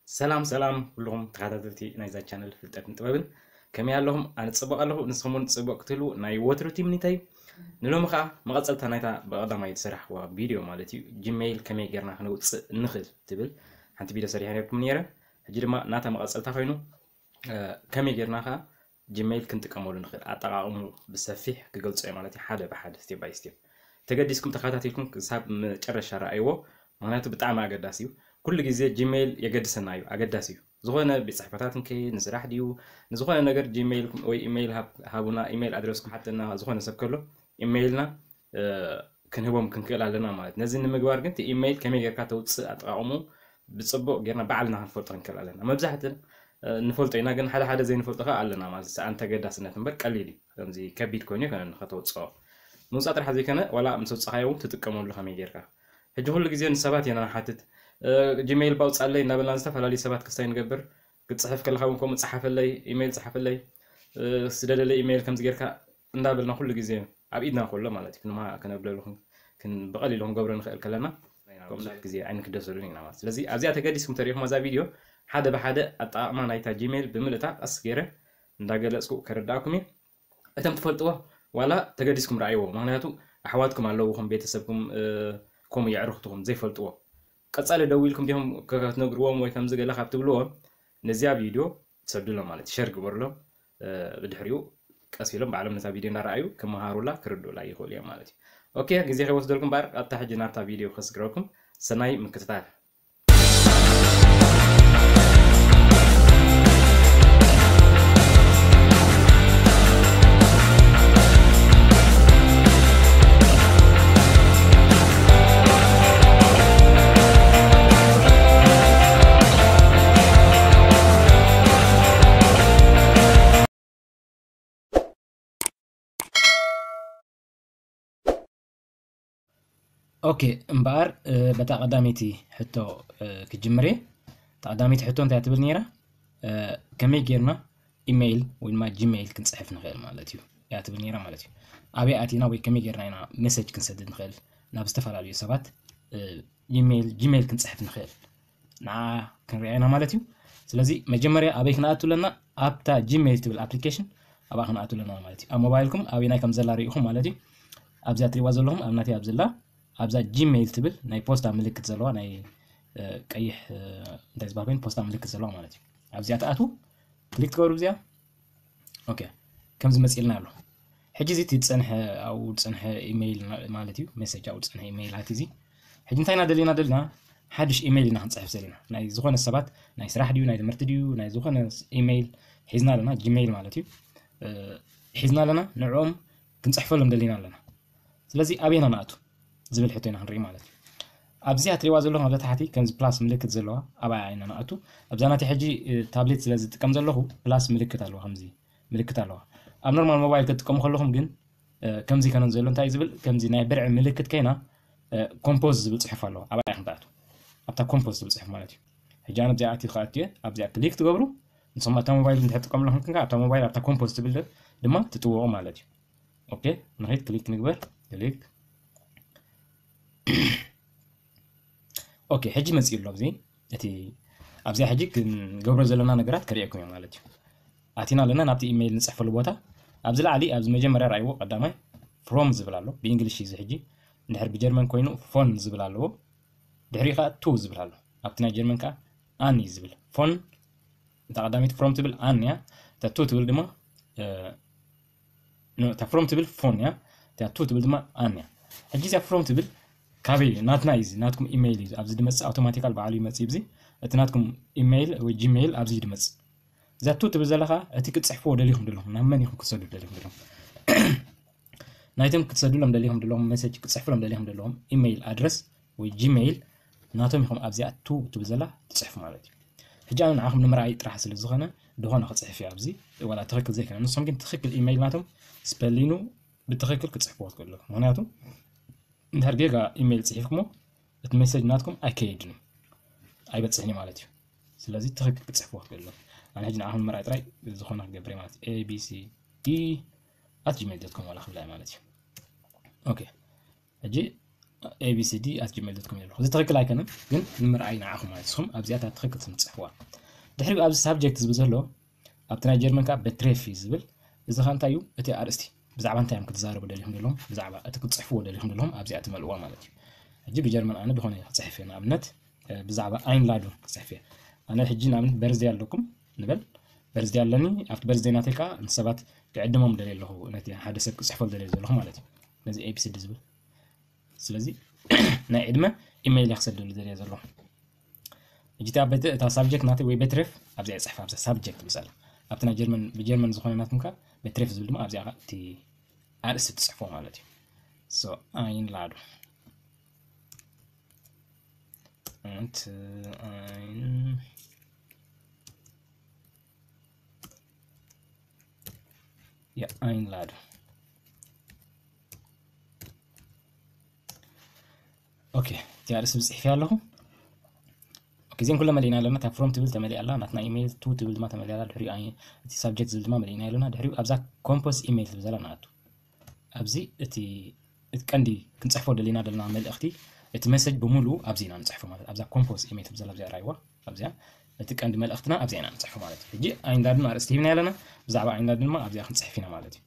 ሰላም ሰላም ኩልኹም ተኸታተልቲ ናይዛ ቻነል ፍልጠትን ጥበብን፣ ከመይ ኣለኹም? ኣነ ጽቡቕ ኣለኹ፣ ንስኹም እውን ጽቡቕ ክትህልዉ ናይ ወትሩ ትምኒተይ። ንሎሚ ኸኣ መቐጸልታ ናይታ ብቐዳማይ ዝሰራሕክዋ ቪድዮ ማለት እዩ፣ ጂሜይል ከመይ ጌርና ክነውጽእ ንኽእል ትብል ሓንቲ ቪድዮ ሰሪሐ ነርኩም ነይረ። ሕጂ ድማ ናታ መቐጸልታ ኮይኑ፣ እ፣ ከመይ ጌርና ኸኣ ጂሜይል ክንጥቀመሉ ንኽእል ኣጠቓቕሙ ብሰፊሕ ክገልጾ እየ ማለት እዩ፣ ሓደ ብሓደ፣ ስቴፕ ባይ ስቴፕ። ተገዲስኩም ተኸታቲልኩም ክሳብ መጨረሻ ረኣይዎ፣ ምኽንያቱ ብጣዕሚ ኣገዳሲ እዩ። ኩሉ ግዜ ጂሜይል የገድሰና እዩ፣ ኣገዳሲ እዩ። ዝኾነ ቤት ጽሕፈታት እንከ ንስራሕ ድዩ ንዝኾነ ነገር ጂሜይልኩም ወይ ኢሜይል ሃብ-፣ ሃቡና፣ ኢሜይል ኣድረስኩም ሓተና፣ ዝኾነ ሰብ ከሎ ኢሜይልና፣ እ፣ ክንህቦም ክንክእል ኣለና ማለት። ነዚ ንምግባር ግን እቲ ኢሜይል ከመይ ጌርካ ተውጽእ ኣጠቓቕሙ ብጽቡቕ ጌርና ባዕልና ክንፈልጦ ክንክእል ኣለና። መብዛሕትን፣ እ፣ ንፈልጦ ኢና፣ ግን ሓደ ሓደ ዘይንፈልጦ ከኣ ኣለና ማለት እዩ። ሰኣን ተገዳስነት እምበር ቀሊል እዩ። ከምዚ ከቢድ ኮይኑ ኣይኮነን ንኸተውጽኦ። ምውጻእ ጥራሕ ዘይኮነ፣ ዋላ ምስ ኣውጻኻዮ እውን ትጥቀመሉ ከመይ ጌርካ። ሕጂ ኩሉ ግዜ ንሰባት ኢና ንሓትት። እ፣ ጂሜይል ባውጻለይ እናበልና ዝተፈላለዩ ሰባት ክስታይ ንገብር። ክትጽሕፍ ከለኻ እውን ከምኡ ጽሓፈለይ፣ ኢሜይል ጽሓፈለይ፣ እ፣ ስደደለይ ኢሜይል ከምዚ ጌርካ እንዳበልና ኩሉ ግዜ ኣብ ኢድና ከሎ ማለት እዩ። ክንማ-፣ ከነብለሉ ክን-፣ ክን-፣ ብቐሊሉ ክንገብሮ ንኽእል ከለና፣ ከምኡ ብዙሕ ግዜ ኣይንክደሰሉን ኢና ማለት። ስለዚ ኣብዚኣ ተገዲስኩም ተሪኢኹም ኣዛ ቪድዮ ሓደ ብሓደ ኣጠቓቕማ ናይታ ጂሜይል ብምልእታ ቀስ ገይረ እንዳገለጽኩ ከረዳእኩም እየ። እቶም ትፈልጥዎ ዋላ ተገዲስኩም ረኣይዎ። ምኽንያቱ ኣሕዋትኩም ኣለዉ፣ ከም ቤተሰብኩም፣ እ፣ ከምኡ የዕሩኽትኹም ዘይፈልጥዎ። ቀጻሊ ደዊልኩም ዲኹም ከ-፣ ክትነግርዎም ወይ ከምዚ ገለ ካብ ትብልዎም፣ ነዚኣ ቪድዮ ትሰዱሎም ማለት እዩ። ሸር ግበሩሎም። እ፣ ብድሕሪኡ ቀስ ኢሎም ባዕሎም ነታ ቪድዮ እናረኣዩ ክመሃሩላ ክርድኡላ ይኽእሉ እዮም ማለት እዩ። ኦኬ፣ ግዜ ከይወስደልኩም እምበኣር ቀጥታ ሕጂ ናብታ ቪድዮ ከስግረኩም። ሰናይ ምክትታል። ኦኬ፣ እምበኣር፣ እ፣ በታ ቀዳመይቲ ሕቶ፣ እ፣ ክጅምር እየ። እታ ቀዳመይቲ ሕቶ እንታይ ትብል ነይራ? እ፣ ከመይ ጌርና ኢሜይል ወይ ድማ ጂሜይል ክንጽሕፍ ንኽእል ማለት እዩ እያ ትብል ነይራ ማለት እዩ። ኣበይ ኣቲና ወይ ከመይ ጌርና ኢና ሜሴጅ ክንሰድድ ንኽእል ናብ ዝተፈላለዩ ሰባት፣ እ፣ ኢሜይል፣ ጂሜይል ክንጽሕፍ ንኽእል? ንዓ ክንሪኣ ኢና ማለት እዩ። ስለዚ መጀመርያ ኣበይ ክንኣቱ ኣለና? ኣብታ ጂሜይል ትብል ኣፕሊኬሽን ኣብኣ ክንኣቱ ኣለና ማለት እዩ። ኣብ ሞባይልኩም ኣበይናይ ከም ዘላ ርኢኹም ማለት እዩ። ኣብዚኣ ትሪእዋ ዘለኹም፣ ኣብ ናተይ ኣብ ዘላ፣ ኣብዛ ጂሜይል ትብል ናይ ፖስታ ምልክት ዘለዋ፣ ናይ፣ እ፣ ቀይሕ፣ እ፣ እንታይ ዝበሃል ኮይኑ ፖስታ ምልክት ዘለዋ ማለት እዩ። ኣብዚኣ ትኣትዉ፣ ክሊክ ትገብሩ ብዚኣ። ኦኬ፣ ከምዚ መጺእልና ኣሎ። ሕጂ እዚ እቲ ዝጸንሐ፣ ኣብኡ ዝጸንሐ ኢሜይል ና-፣ ማለት እዩ፣ ሜሴጅ ኣብኡ ዝጸንሐ ኢሜይላት እዚ። ሕጂ እንታይ ኢና ደሊና ደሊና? ሓድሽ ኢሜይል ኢና ክንጽሕፍ ዘለና። ናይ ዝኾነ ሰባት፣ ናይ ስራሕ ድዩ፣ ናይ ትምህርቲ ድዩ፣ ናይ ዝኾነ ስ-፣ ኢሜይል ሒዝና ኣለና፣ ጂሜይል ማለት እዩ። እ፣ ሒዝና ኣለና፣ ንዕኦም ክንጽሕፈሎም ደሊና ኣለና። ስለዚ ኣበይና ንኣቱ ዝብል ሕቶ ኢና ክንርኢ ማለት እዩ። ኣብዚኣ ትሪእዋ ዘለኹም ኣብዛ ታሕቲ ከምዚ ፕላስ ምልክት ዘለዋ ኣብኣ ኢና ንኣቱ። ኣብዛ ናተይ ሕጂ፣ እ፣ ታብሌት ስለ ዝጥቀም ዘለኹ ፕላስ ምልክት ኣለዋ፣ ከምዚ ምልክት ኣለዋ። ኣብ ኖርማል ሞባይል ክትጥቀሙ ከለኹም ግን፣ እ፣ ከምዚ ከነን ዘሎ እንታይ እዩ ዝብል? ከምዚ ናይ ብርዒ ምልክት ከይና፣ እ፣ ኮምፖዝ ዝብል ጽሑፍ ኣለዋ። ኣብኣ ኢኹም ትኣቱ። ኣብታ ኮምፖዝ ዝብል ጽሑፍ ማለት እዩ። ሕጂ ኣነ ኣብዚኣ ኣትዩ ክኣቱ እየ። ኣብዚኣ ክሊክ ትገብሩ። ንስኹም ኣብታ ሞባይል እንድሕር ትጥቀሙ ኣለኹም፣ ክንካ ኣብታ ሞባይል ኣብታ ኮምፖዝ ትብል ድማ ትጥውቑ ማለት እዩ። ኦኬ፣ ንኸይድ ክሊክ ንግበር። ክሊክ። ኦኬ፣ ሕጂ መጺኡ ኣሎ። ኣብዚ፣ እቲ፣ ኣብዚኣ ሕጂ ክንገብሮ ዘለና ነገራት ከርእየኩም እየ ማለት እዩ። ኣቲና ኣለና ናብቲ ኢሜይል ንጽሕፈሉ ቦታ። ኣብዚ ላዕሊ፣ ኣብዚ መጀመርያ ረኣይዎ ቀዳማይ ፍሮም ዝብል ኣሎ። ብእንግሊሽ እዩ እዚ ሕጂ። እንድሕር ብጀርመን ኮይኑ ፎን ዝብል ኣለዎ። ድሕሪኡ ከኣ ቱ ዝብል ኣሎ። ኣብቲ ናይ ጀርመን ከኣ ኣን እዩ ዝብል። ፎን፣ እታ ቀዳመይቲ ፍሮም ትብል ኣን እያ። እታ ቱ ትብል ድማ፣ እ፣ ኖ፣ እታ ፍሮም ትብል ፎን እያ። እታ ቱ ትብል ድማ ኣን እያ። ሕጂ እዚኣ ፍሮም ትብል ካበይ እዩ? ናትና እዩ እዚ፣ ናትኩም ኢሜይል እዩ። ኣብዚ ድመጽእ ኣውቶማቲካል ባዕሉ ይመጽእ እዩ። እዚ እቲ ናትኩም ኢሜይል ወይ ጂሜይል ኣብዚ እዩ ድመጽእ። እዛ ቱ ትብል ዘላ ከኣ እቲ ክትጽሕፍዎ ደሊኹም ደለኹም፣ ናብ መን ኢኹም ክትሰዱ ደሊኹም ደለኹም። ናይቶም ክትሰዱሎም ደሊኹም ደለኹም፣ ሜሴጅ ክትጽሕፉሎም ደሊኹም ደለኹም ኢሜይል ኣድረስ ወይ ጂሜይል ናቶም ኢኹም ኣብዚኣ ቱ ትብል ዘላ ትጽሕፉ ማለት እዩ። ሕጂ ኣነ ንዓኹም ንምርኣይ ጥራሕ ስለ ዝኾነ፣ ዝኾነ ክጽሕፍ እየ ኣብዚ፣ ዋላ ትኽክል ዘይኮነ። ንሶም ግን ትኽክል ኢሜይል ናቶም ስፐሊኑ ብትኽክል ክጽሕፍዎ ትኽእሉ። ምኽንያቱ እንድሕር ጌጋ ኢሜይል ጽሒፍኩሞ፣ እቲ ሜሴጅ ናትኩም ኣይከይድን እዩ፣ ኣይበጽሕን እዩ ማለት እዩ። ስለዚ ትኽክል ክጽሕፍዎ ትኽእሉ። ኣነ ሕጂ ንዓኹም ንምርኣይ ጥራይ ዝኾነ ክገብር እየ ማለት እዩ። ኤ ቢ ሲ ዲ ኣት ጂሜይል ዶት ኮም ዋላ ክብላ እየ ማለት እዩ። ኦኬ። ሕጂ abcd at gmail dot com ይብለኹ። እዚ ትኽክል ኣይኮነን፣ ግን ንምርኣይ ንዓኹም ማለት ንስኹም ኣብዚኣ እታ ትኽክል ስም ትጽሕፍዋ። ድሕሪኡ ኣብዚ ሳብጀክት ዝብል ዘሎ ኣብቲ ናይ ጀርመን ከዓ በትሬፍ እዩ ዝብል። እዚ ከዓ እንታይ እዩ? እቲ ኣርእስቲ ብዛዕባ እንታይ እዮም ክትዛረቡ ደሊኹም ዘለኹም፣ ብዛዕባ እቲ ክትጽሕፍዎ ደሊኹም ዘለኹም ኣብዚኣ ትመልእዋ ማለት እዩ። ሕጂ ብጀርመን ኣነ ዝኾነ ክጽሕፍ እየ፣ ንኣብነት ብዛዕባ ኣይንላዱ ክጽሕፍ እየ። ኣነ ሕጂ ንኣብነት በርዝደይ ኣለኩም ንበል፣ በርዝደይ ኣለኒ። ኣብቲ በርዝደይ ናተይ ከዓ ንሰባት ክዕድሞም ደልየ ኣለኹ፣ ነቲ ሓደ ሰብ ክጽሕፈሉ ደልየ ዘለኹ ማለት እዩ። ነዚ abcd ዝብል ስለዚ ናይ ዕድመ ኢሜይል እየ ክሰደሉ ደልየ ዘለኹ። ሕጂ እታ ሳብጀክት ናተይ ወይ በትሬፍ ኣብዚኣ ይጽሕፍ፣ ኣብዛ ሳብጀክት ምሳሌ ኣብቲ ናይ ጀርመን ብጀርመን ዝኾነ ናትኩም ከ በትሬፍ ዝብል ድማ ኣብዚኣ እቲ ኣርእስቲ ትጽሕፎ ማለት እዩ። So ኣይንላዱ። Einladung. ኦኬ፣ እዚኣ ርእሲ ብጽሕፊ ኣለኹ። ኦኬ፣ እዚን ኩለ መሊእና ኣለና። እታ ፍሮም ትብል ተመሊኣ ኣላ፣ ናትና ኢሜይል ቱ ትብል ድማ ተመሊኣ ኣላ። ድሕሪኡ እቲ ሳብጀክት ዝብል ድማ መሊእና ኣለና። ድሕሪኡ ኣብዛ ኮምፖስ ኢሜይል ትብል ዘላ ንኣቱ። ኣብዚ እቲ እቲ ቀንዲ ክንጽሕፎ ደሊና ደለና መልእኽቲ፣ እቲ መሰጅ ብምሉኡ ኣብዚ ኢና ንጽሕፎ ማለት ኣብዛ ኮምፖስ ኢሜይል ትብል ዘላ ኣብዚኣ ራይዋ፣ ኣብዚኣ እቲ ቀንዲ መልእኽትና ኣብዚኣ ኢና ንጽሕፎ ማለት እዩ። ሕጂ ኣይንዳድን ኣርእስቲ ሂብና ኣለና፣ ብዛዕባ ኣይንዳድን ድማ ኣብዚኣ ክንጽሕፍ ኢና ማለት እዩ።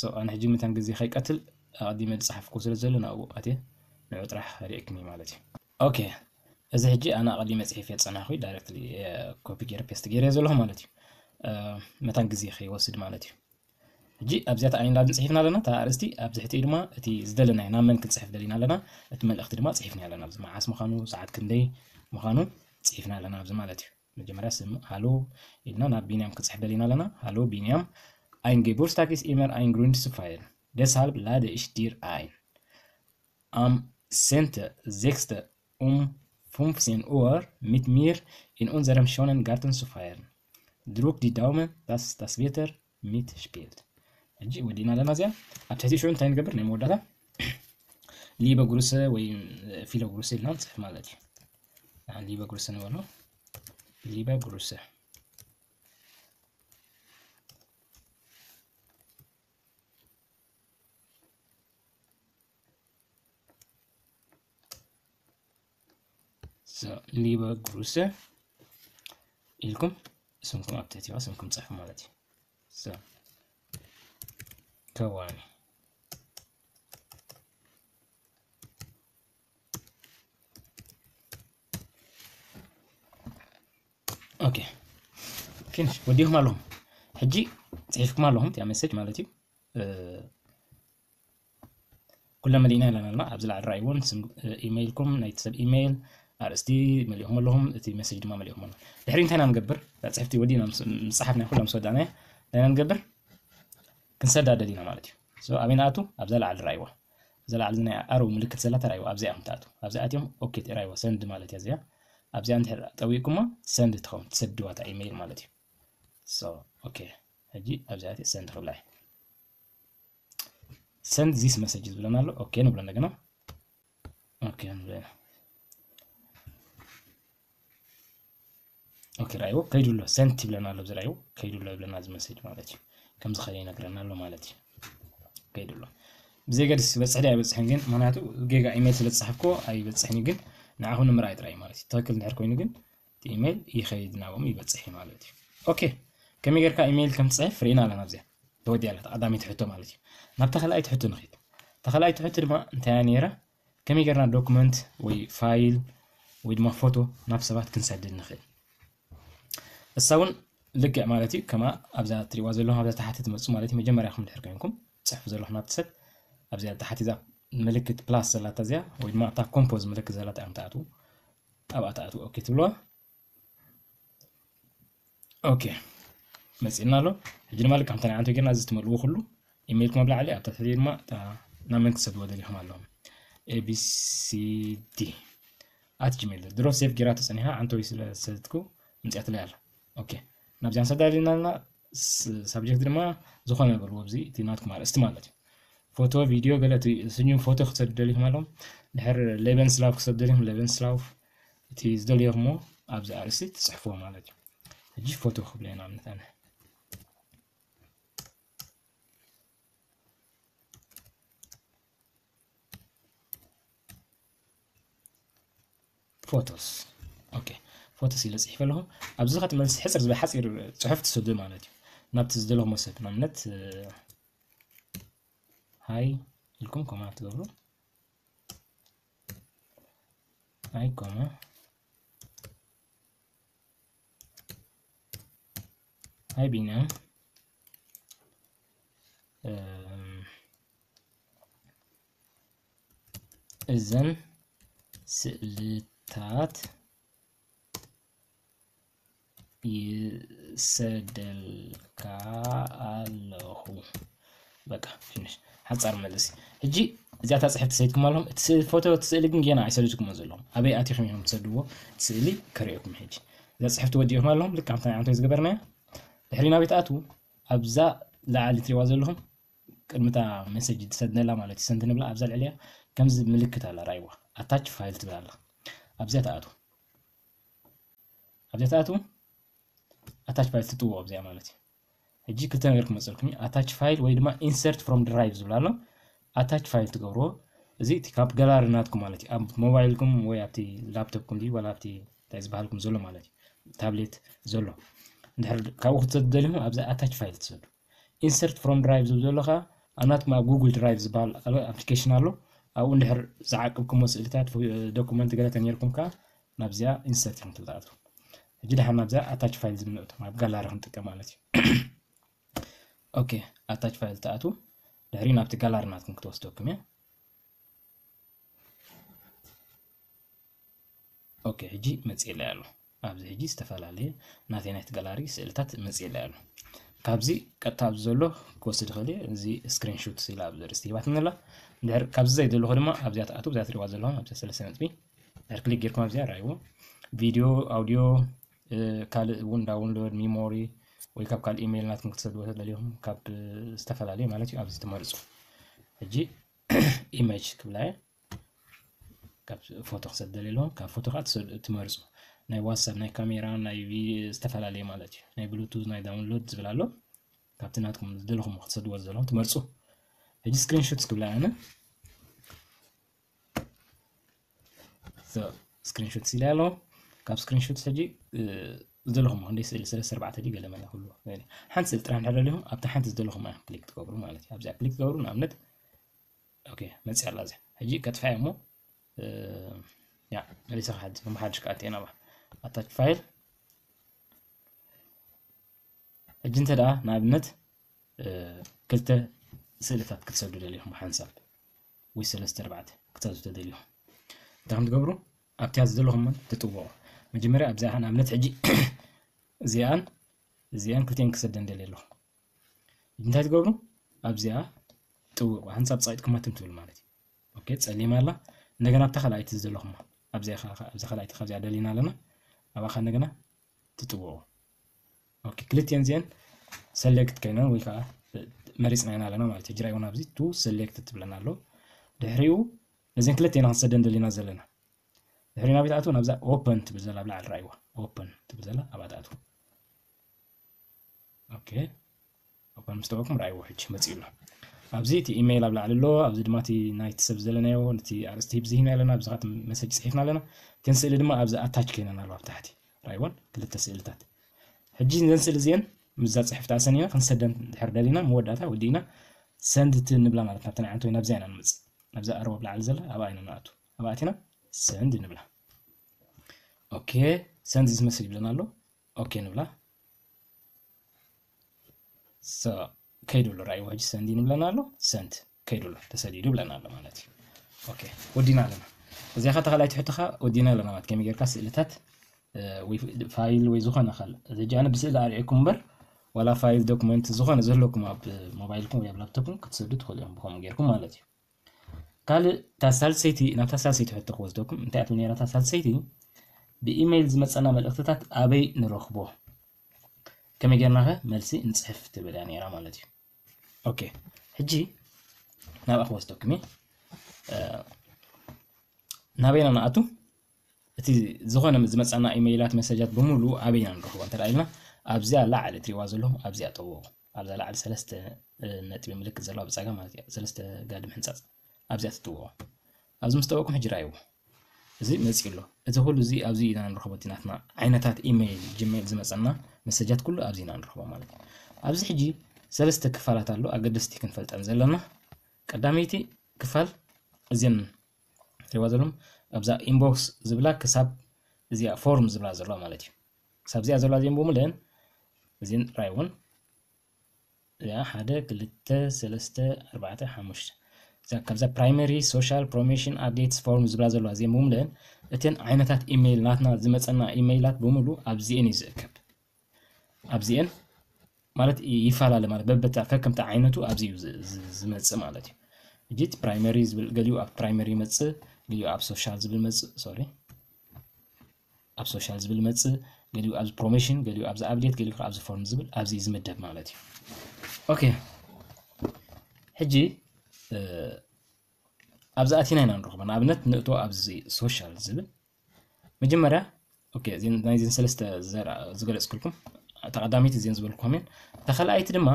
So ኣነ ሕጂ ምታን ግዜ ከይቀትል ኣቐዲመ ዝጸሓፍኩ ስለ ዘሎ ናብኡ ኣትየ ንዑ ጥራሕ ሪእክኒ ማለት እዩ። ኦኬ፣ እዚ ሕጂ ኣነ ኣቐዲመ ጽሒፍ የጸናኹ ዳይሬክትሊ ኮፒ ገይረ ፔስት ገይረ ዘለኹ ማለት እዩ። መታን ግዜ ከይወስድ ማለት እዩ። ሕጂ ኣብዚኣ ኣይንላድን ጽሒፍና ኣለና፣ እታ ኣርእስቲ ኣብ ትሕቲ ድማ እቲ ዝደለናዮ ናብ መን ክንጽሕፍ ደሊና ኣለና፣ እቲ መልእኽቲ ድማ ጽሒፍና ኣለና። ኣብዚ መዓስ ምዃኑ፣ ሰዓት ክንደይ ምዃኑ ጽሒፍና ኣለና ኣብዚ ማለት እዩ። መጀመርያ ስም ሃሎ ኢልና ናብ ቢንያም ክጽሕፍ ደሊና ኣለና። ሃሎ ቢንያም፣ ein Geburtstag ist immer ein Grund zu feiern. Deshalb lade ich dir ein. Am zehnten sechsten um fünfzehn Uhr mit mir in unserem schönen Garten zu feiern. Drück die Daumen, dass das Wetter mitspielt. ሕጂ ወዲእና ኣለና እዚኣ። ኣብ ትሕቲ ሽዑ እንታይ ንገብር? ናይ መወዳእታ ሊበ ግሩሰ ወይ ፊሎ ግሩሰ ኢልና ንጽሕፍ ማለት እዩ። ንሓን ሊበ ግሩሰ ንበሎ። ሊበ ግሩሰ። So, ሊበ ግሩሰ ኢልኩም ስምኩም ኣብ ትሕቲዋ ስምኩም ጽሕፉ ማለት እዩ። So፣ ከዋኒ። ኦኬ፣ ፊኒሽ። ወዲኹም ኣለኹም። ሕጂ ጽሒፍኩም ኣለኹም እቲኣ መሰጅ ማለት እዩ። ኩለ መሊእና ኣለና። ኣብዚ ላዕሊ ራእይዎን ስም ኢሜይልኩም፣ ናይቲ ሰብ ኢሜይል፣ ኣርእስቲ መሊእኹም ኣለኹም፣ እቲ መሰጅ ድማ መሊእኹም ኣለኹም። ድሕሪ እንታይ ኢና ንገብር? እታ ጽሕፍቲ ወዲና ምስ፣ ምስ ጸሓፍና ኩላ ምስ ወዳእናያ እንታይ ኢና ንገብር? ክንሰዳ ደሊና ማለት እዩ። So ኣበይ ንኣቱ? ኣብዛ ላዕሊ ራእይዋ። እዛ ላዕሊ ናይ ኣሮ ምልክት ዘላ ተራእይዋ፣ ኣብዚኣ እዮም ትኣቱ። ኣብዚኣ ኣትዮም ኦኬ ተራእይዋ፣ ሰንድ ማለት እያ እዚኣ። ኣብዚኣ እንድሕር ጠዊቅኩማ ሰንድ ትኸውን፣ ትሰድዋ እታ ኢሜይል ማለት እዩ። So ኦኬ፣ ሕጂ ኣብዚኣ ኣትየ ሰንድ ክብላ እየ። Send this message ዝብለና ኣሎ። ኦኬ ንብሎ እንደገና። ኦኬ ንብሎ። ኦኬ ራእይዎ ከይዱ ኣሎ። ሰንት ይብለና ኣሎ። እዚ ራእይዎ ከይዱ ኣሎ ይብለና እዚ መሰጅ ማለት እዩ። ከምዚ ከለ ይነግረና ኣሎ ማለት እዩ። ከይዱ ኣሎ። ብዘይ ገድስ ይበጽሕ ድዩ ኣይበጽሕን ግን፣ ምኽንያቱ ጌጋ ኢሜይል ስለ ዝጸሓፍኩ ኣይበጽሕን እዩ፣ ግን ንዓኹም ንምርኣይ ጥራይ ማለት እዩ። ትኽክል እንድሕር ኮይኑ ግን እቲ ኢሜይል ይኸይድ ናብኦም ይበጽሕ እዩ ማለት እዩ። ኦኬ፣ ከመይ ጌርካ ኢሜይል ከም ትጽሕፍ ርኢና ኣለና። ኣብዚኣ ተወዲኣ ኣላ፣ ቀዳመይቲ ሕቶ ማለት እዩ። ናብ ተኸላኣይቲ ሕቶ ንኺድ። ተኸላኣይቲ ሕቶ ድማ እንታይ እያ ነይራ? ከመይ ጌርና ዶክመንት ወይ ፋይል ወይ ድማ ፎቶ ናብ ሰባት ክንሰድድ ንኽእል? እሳ እውን ልክዕ ማለት እዩ፣ ከማ ኣብዛ ትሪእዋ ዘለኹም ኣብዛ ታሕቲ ትመጹ ማለት እዩ። መጀመርያኹም ድሕር ኮይንኩም ትጽሕፉ ዘለኹም ናብቲ ሰብ፣ ኣብዚኣ ታሕቲ እዛ ምልክት ፕላስ ዘላታ እዚኣ ወይ ድማ ኣብታ ኮምፖዝ ምልክት ዘላታ እዮም ትኣትዉ። ኣብኣ ትኣትዉ ኦኬ ትብልዋ። ኦኬ መጺእና ኣሎ። ሕጂ ድማ ልክዕ ከምታ ናይ ዓንቶ ጌርና እዚ ትመልእዎ ኩሉ ኢሜይልኩም ኣብ ላዕሊ፣ ኣብታ ትሕቲ ድማ እታ ናብ መን ክትሰድዎ ደሊኹም ኣለኹም። ኤቢሲዲ ኣት ጂሜል። ድሮ ሴቭ ጌራቶ ጸኒሓ፣ ዓንቶይ ስለ ዝሰደድኩ ምጽኣትለይ ኣላ። ኦኬ ናብዚኣ ንሰዳ ደሊና ኣለና። ስ-፣ ሳብጀክት ድማ ዝኾነ በልዎ፣ ኣብዚ እቲ ናትኩም ኣርእስቲ ማለት እዩ። ፎቶ፣ ቪድዮ፣ ገለ እቲ ስዩም ፎቶ ክትሰዱ ደሊኹም ኣለኹም። ድሕር ሌበንስላፍ ክሰዱ ደሊኹም፣ ሌበንስላፍ እቲ ዝደልዮኹሞ ኣብዚ ኣርእስቲ ትጽሕፍዎ ማለት እዩ። ሕጂ ፎቶ ክብሎ እየ ንኣብነት ኣነ። ፎቶስ። ኦኬ፣ ፎቶስ ኢለ ጽሒፈ ኣለኹ። ኣብዚ ኸዓ እቲ መልሲ ሕጽር ዝበለ ሓጺር ጽሑፍ ትሰዱ ማለት እዩ። ናብቲ ዝደለኹሞ ሰብ፣ ንኣብነት፣ ሃይ ኢልኩም ኮማ ትገብሩ። ሃይ ኮማ፣ ሃይ ቢንያም፣ እም፣ እዘን ስእልታት ይሰደልካ ኣለኹ። በቃ፣ ፊኒሽ። ሓጻር መልሲ። ሕጂ እዚኣታ ጽሕፍቲ ሰዲድኩም ኣለኹም። እቲ ስእሊ፣ ፎቶ፣ እቲ ስእሊ ግን ጌና ኣይሰደድኩሞ ዘለኹም። ኣበይ ኣቲኹም ኢኹም ትሰድዎ? እቲ ስእሊ ከርእየኩም ሕጂ። እዛ ጽሕፍቲ ወዲእኹም ኣለኹም። ልክዕ ከምታ ንዓንቶ ዝገበርናያ። ድሕሪ ናበይ ትኣትዉ? ኣብዛ ላዕሊ ትሪእዋ ዘለኹም ቅድሚታ ሜሴጅ ትሰደላ ማለት እዩ። ሰንድ ንብላ ኣብዛ ልዕሊያ ከምዚ ምልክት ኣላ፣ ራእይዋ። ኣታች ፋይል ትብል ኣላ። ኣብዚኣ ትኣትዉ። ኣብዚኣ ትኣትዉ፣ ኣታች ፋይል ትጥውቑ ኣብዚኣ ማለት እዩ። ሕጂ ክልተ ነገር ክመፀልኩም እዩ። ኣታች ፋይል ወይ ድማ ኢንሰርት ፍሮም ድራይቭ ዝብል ኣሎ። ኣታች ፋይል ትገብርዎ፣ እዚ እቲ ካብ ጋላሪ ናትኩም ማለት እዩ። ኣብ ሞባይልኩም ወይ ኣብቲ ላፕቶፕኩም ድዩ ዋላ ኣብቲ እንታይ ዝበሃልኩም ዘሎ ማለት እዩ፣ ታብሌት ዘሎ። እንድሕር ካብኡ ክትሰዱ ደሊኹም ኣብዚ ኣታች ፋይል ትሰዱ። ኢንሰርት ፍሮም ድራይቭ ዝብል ዘሎ ከዓ ኣብ ናትኩም ኣብ ጉግል ድራይቭ ዝበሃል ኣሎ፣ ኣፕሊኬሽን ኣሎ። ኣብኡ እንድሕር ዝዓቅብኩሞ ስእልታት፣ ፎ-፣ ዶኩመንት ገለ ተነይርኩም ከዓ ናብዚኣ ኢንሰርት ኢኹም ትኣትዉ። ሕጂ ደሓን ናብዚኣ ኣታች ፋይል ዝብል ንእቶ፣ ኣብ ጋላሪ ክንጥቀም ማለት እዩ። ኦኬ፣ ኣታች ፋይል ትኣትዉ። ድሕሪ ናብቲ ጋላሪ ናትኩም ክትወስደኩም እያ። ኦኬ፣ ሕጂ መፅእለይ ኣሎ። ኣብዚ ሕጂ ዝተፈላለየ ናተይ ናይቲ ጋላሪ ስእልታት መፅእለይ ኣሎ። ካብዚ ቀጥታ ኣብዚ ዘሎ ክወስድ ይኽእል እየ። እዚ ስክሪንሹት ኢላ ኣብዚ ርእስቲ ሂባትኒ ኣላ። እንድሕር ካብዚ ዘይደለኹ ድማ ኣብዚኣ ትኣትዉ፣ ኣብዚኣ ትሪእዋ ዘለኹም ኣብዚኣ ሰለስተ ነጥቢ ድሕሪ ክሊክ ጌርኩም ኣብዚኣ ርኣይዎ። ቪድዮ፣ ኣውዲዮ፣ እ፣ ካልእ እውን ዳውንሎድ፣ ሚሞሪ ወይ ካብ ካልእ ኢሜይል ናትኩም ክትሰድዎ ተደሊኹም ካብ፣ እ፣ ዝተፈላለየ ማለት እዩ። ኣብዚ ትመርጹ። ሕጂ ኢሜጅ ክብላ እየ። ካብ ፎቶ ክሰደል ኣለዎ። ካብ ፎቶ ከዓ ትሰ-፣ ትመርጹ። ናይ ዋትሳፕ፣ ናይ ካሜራ፣ ናይ ቪ-፣ ዝተፈላለየ ማለት እዩ። ናይ ብሉቱዝ፣ ናይ ዳውንሎድ ዝብል ኣሎ። ካብቲ ናትኩም ዝደለኹም ክትሰድዎ ዘለኹም ትመርጹ። ሕጂ ስክሪንሾት ክብላ ኣነ። ሶ፣ ስክሪንሾት ኢለ ኣለኹ። ካብ ስክሪንሾት ሕጂ፣ እ፣ ዝደለኹም ክንደይ ስእሊ፣ ሰለስተ ኣርባዕተ ድዩ ገለ መለ ክህልዎ። ሓንቲ ስእሊ ጥራሕ እንድሕር ደሊኹም፣ ኣብታ ሓንቲ ዝደለኹም እያ ክሊክ ትገብሩ ማለት እዩ። ኣብዚኣ ክሊክ ትገብሩ፣ ንኣብነት፣ ኦኬ፣ መፂኣ ኣላ እዚኣ። ሕጂ ከጥፍኣ እሞ፣ እ፣ ያ፣ መሊሰ ክሓድስ፣ መሓድሽ ክኣቲ እየ ናብኣ። ኣታች ፋይል። ሕጂ እንተ ደኣ ንኣብነት፣ እ፣ ክልተ ስእልታት ክትሰዱ ደሊኹም ብሓንሳብ ወይ ሰለስተ ኣርባዕተ ክትሰዱ ተደሊኹም፣ እንታይ ከም ትገብሩ? ኣብቲኣ ዝደለኹም ትጥውቑ። መጀመርያ ኣብዚኣ ንኣብነት ሕጂ እዚኣን እዚኣን ክልቲኣን ክሰደን ደልየ ኣለኹ። እንታይ ትገብሩ? ኣብዚኣ ጥውቑ፣ ሓንሳብ ጸቒጥኩማ ትም ትብሉ ማለት እዩ። ኦኬ፣ ጸሊም ኣላ። እንደገና ኣብታ ካልኣይቲ ዝደለኹማ፣ ኣብዚኣ ኸ-፣ ኣብዛ ካልኣይቲ ካብዚኣ ደሊና ኣለና። ኣብኣ ኸ እንደገና ትጥውቑ። ኦኬ፣ ክልቲኤን እዚኤን ሰሌክት ኮይነን ወይ ከዓ መሪጽና ኢና ኣለና ማለት እዩ። ሕጂ ራእይዎ ኣብዚ ቱ ሰሌክት ትብለና ኣሎ። ድሕሪኡ ነዚን ክልቲኤን ክንሰደን ደሊና ዘለና። ድሕሪ ናበይ ትኣትዉ? ናብዛ ኦፐን ትብል ዘላ ኣብ ላዕሊ ራእይዋ። ኦፐን ትብል ዘላ ኣብኣ ትኣትዉ። ኦኬ። ኦፐን ምስ ተበልኩም ራእይዎ ሕጂ መጺኡ ኣሎ። ኣብዚ እቲ ኢሜይል ኣብ ላዕሊ ኣሎ፣ ኣብዚ ድማ እቲ ናይቲ ሰብ ዘለናዮ፣ ነቲ ኣርእስቲ ብዝሂና ኣለና፣ ኣብዚ ኻት መሰጅ ጽሒፍና ኣለና። እተን ስእሊ ድማ ኣብዚ ኣታች ኮይነን ኣለዋ ኣብ ታሕቲ። ራእይወን ክልተ ስእልታት። ሕጂ እዘን ስእሊ እዚኤን ምስዛ ጽሕፍቲ ኣሰኒና ክንሰደን ድሕር ደሊና መወዳእታ ወዲእና ሰንድ ት ንብላ ማለት ናብተን ዓንቶ ናብዚኣ ኢና ንምጽእ። ናብዛ ኣርባ ኣብ ላዕሊ ዘላ ኣብኣ ኢና ንኣቱ። ኣብኣ ኣቲና ሰንድ ንብላ። ኦኬ፣ ሰንድ ዝመስል ይብለና ኣሎ። ኦኬ ንብላ። ሶ፣ ከይዱ ኣሎ። ራእይዎ ሕጂ ሰንድ ንብለና ኣሎ። ሰንድ ከይዱ ኣሎ፣ ተሰዲዱ ብለና ኣሎ ማለት እዩ። ኦኬ፣ ወዲና ኣለና። እዚኣ ኸ ተኻላይቲ ሕቶኻ ወዲና ኣለና ማለት ከመይ ጌርካ ስእልታት፣ እ፣ ወይ ፋይል ወይ ዝኾነ ካልእ። እዚ ሕጂ ኣነ ብስእሊ ኣርእየኩም እምበር፣ ዋላ ፋይል፣ ዶክመንት፣ ዝኾነ ዘለኩም ኣብ ሞባይልኩም ወይ ኣብ ላፕቶፕኩም ክትሰዱ ትኽእሉ እዮም ብኸምኡ ጌርኩም ማለት እዩ። ካልእ፣ እታ ሳልሰይቲ፣ ናብታ ሳልሰይቲ ሕቶ ክወስደኩም። እንታይ እያ ትብል ነይራ እታ ሳልሰይቲ? ብኢሜይል ዝመጸና መልእኽትታት ኣበይ ንረኽቦ? ከመይ ጌርና ኸ መልሲ ንጽሕፍ ትብል እያ ነይራ ማለት እዩ። ኦኬ፣ ሕጂ ናብኣ ክወስደኩም እየ። እ፣ ናበይና ንኣቱ? እቲ ዝኾነ ዝመጻና ኢሜይላት፣ መሰጃት ብምሉኡ ኣበይና ንረኽቦ እንተ ኢልና፣ ኣብዚኣ ላዕሊ እትሪእዋ ዘለኹም ኣብዚኣ ጠውቑ። ኣብዛ ላዕሊ ሰለስተ፣ እ፣ ነጥቢ ምልክት ዘለዋ ብጸጋም ማለት እያ። ሰለስተ ጋድም ሕንጻጽ ኣብዚኣ ትጥውቑ። ኣብዚ ምስ ጠወቕኩም ሕጂ ራእይዎ። እዚ መፂኡ ኣሎ። እዚ ኩሉ እዚ ኣብዚ ኢና ንረኽቦ፣ እቲ ናትና ዓይነታት ኢሜይል ጂሜይል ዝመፀና መሰጃት ኩሉ ኣብዚ ኢና ንረኽቦ ማለት እዩ። ኣብዚ ሕጂ ሰለስተ ክፋላት ኣሎ ኣገደስቲ ክንፈልጠን ዘለና። ቀዳመይቲ ክፋል እዚን ትሪእዋ ዘለኹም ኣብዛ ኢንቦክስ ዝብላ ክሳብ እዚኣ ፎርም ዝብላ ዘለዋ ማለት እዩ። ክሳብ እዚኣ ዘለዋ እዚን ብምልእን እዚን ራይ እውን እዚኣ ሓደ ክልተ ሰለስተ ኣርባዕተ ሓሙሽተ እዛ ካብዛ ፕራይመሪ ሶሻል ፕሮሞሽን ኣፕዴትስ ፎርም ዝብላ ዘለዋ እዚን ብምልእን እተን ዓይነታት ኢሜይል ናትና ዝመፀና ኢሜይላት ብምሉ ኣብዚኤን እዩ ዝእከብ። ኣብዚኤን ማለት ይፈላለ ማለት በበታ ከከምቲ ዓይነቱ ኣብዚ እዩ ዝ- ዝ- ዝመፅእ ማለት እዩ። እጂ እቲ ፕራይመሪ ዝብል ገሊኡ ኣብ ፕራይመሪ ይመፅእ፣ ገሊኡ ኣብ ሶሻል ዝብል መፅእ፣ ሶሪ፣ ኣብ ሶሻል ዝብል መፅእ፣ ገሊኡ ኣብዚ ፕሮሞሽን፣ ገሊኡ ኣብዚ ኣፕዴት፣ ገሊኡ ከዓ ኣብዚ ፎርም ዝብል ኣብዚ እዩ ዝምደብ ማለት እዩ። ኦኬ፣ ሕጂ ኣብዚ ኣቲና ኢና ንረኽቦ። ንኣብነት ንእቶ ኣብዚ ሶሻል ዝብል መጀመርያ፣ ኦኬ፣ እዚን ናይዚን ሰለስተ ዝገለፅኩልኩም፣ ተቐዳሚት እዚን ዝበልኩኹም እየን። ተኸልኣይቲ ድማ